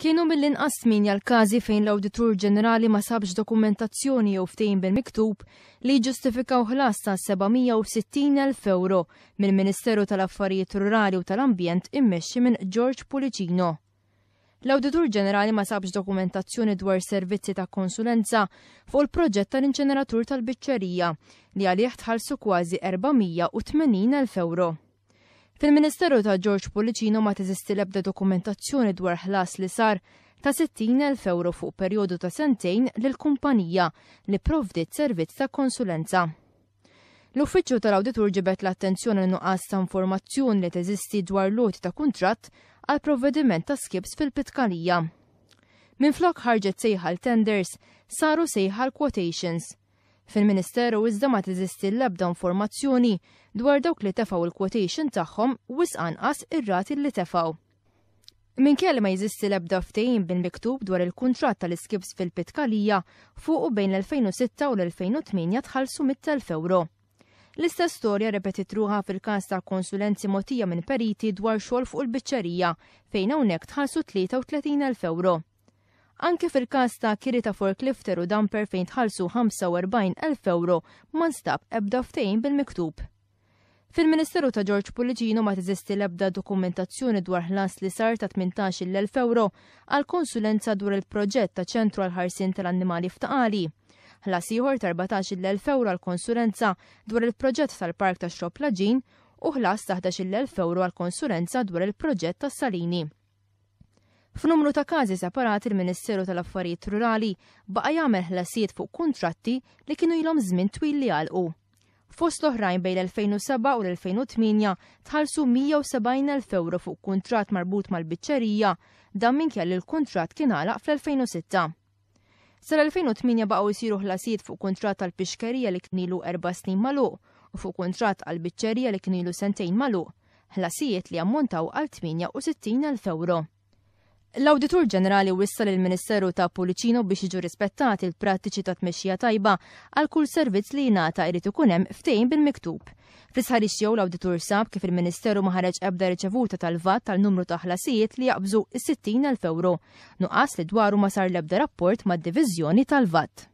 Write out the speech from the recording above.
Kienu mill-inqas tmienja l-każi fejn l-Awditur Ġenerali ma sabx dokumentazzjoni jew ftehim bil-miktub li jiġġustifikaw ħlas ta' 760,000 ewro mill-Ministeru tal-Affarijiet Rurali u tal-Ambjent immexxi minn George Pullicino. L-Awditur Ġenerali ma sabx dokumentazzjoni dwar servizzi ta' konsulenza fuq il-proġett tal-inċeneratur tal-biċċerija li għalih tħallsu kważi 480,000 ewro. Fil-Ministeru ta' George Pullicino ma teżisti l-ebda dokumentazzjoni dwar ħlas li sar ta' 60,000 ewro fuq perjodu ta' sentejn lil kumpanija li pprovdiet servizz ta' konsulenza. L-Uffiċċju tal-Awditur ġibed l-attenzjoni lin-nuqqas ta' informazzjoni li teżisti dwar l-għoti ta' kuntratt għall-provvediment ta' skips fil-Pitkalija. Minflok ħarġet sejħa għal tenders, saru sejħa għal quotations. Fil-Ministeru iżda ma teżisti l-ebda informazzjoni dwar dawk li tefgħu l-quotation tagħhom wisq anqas ir-rati li tefgħu. Minkejja li ma jeżisti l-ebda ftehim bil-miktub dwar il-kuntratt tal-iskips fil-Pitkalija, fuqu bejn l-2006 u l-2008 tħallsu 100,000 ewro. L-istess storja rrepetiet ruħha fil-każ ta' konsulenzi mogħtija minn periti dwar xogħol fuq il-biċċerija fejn hawnhekk tħallsu 33,000 ewro. Anke fil-każ ta' kiri ta' forklifter u dumper fejn tħallsu 45,000 ewro ma nstab ebda ftehim bil-miktub. Fil-Ministeru ta' George Pullicino ma teżisti l-ebda dokumentazzjoni dwar ħlas li sar ta' 18,000 ewro għal konsulenza dwar il-proġett ta' ċentru għall-ħarsien tal-annimali f'Ta' Qali. Ħlas ieħor ta' 14,000 ewro għal konsulenza dwar il-proġett tal-Park tax-Xrobb l-Għaġin u ħlas ta' 11,000 ewro għal konsulenza dwar il-proġett tas-Salini. F'numru ta' każi separati l-Ministeru tal-Affarijiet Rurali baqa' jagħmel ħlasijiet fuq kuntratti li kienu ilhom żmien twil li għalqu. Fost l-oħrajn bejn l-2007 u l-2008 tħallsu 170,000 ewro fuq kuntratt marbut mal-biċċerija, dan minkejja li l-kuntratt kien għalaq fl-2006. Sal-2008 baqgħu jsiru ħlasijiet fuq kuntratt għall-pixkerija li kien ilu erba' snin magħluq u fuq kuntratt għall-biċċerija li kien ilu sentejn magħluq, ħlasijiet li ammontaw għal 68,000 ewro. L-Awditur Ġenerali wissa lill-Ministeru ta' Pullicino biex jiġu rispettati l-prattiċi ta' tmexxija tajba għal kull servizz li jingħata jrid ikun hemm ftehim bil-miktub. Fl-istħarriġ tiegħu l-Awditur sab kif il-Ministeru ma ħareġ ebda riċevuta tal-VAT għal numru ta' ħlasijiet li jaqbżu s-60,000 ewro, nuqqas li dwaru ma sar l-ebda rapport mad-Diviżjoni tal-VAT.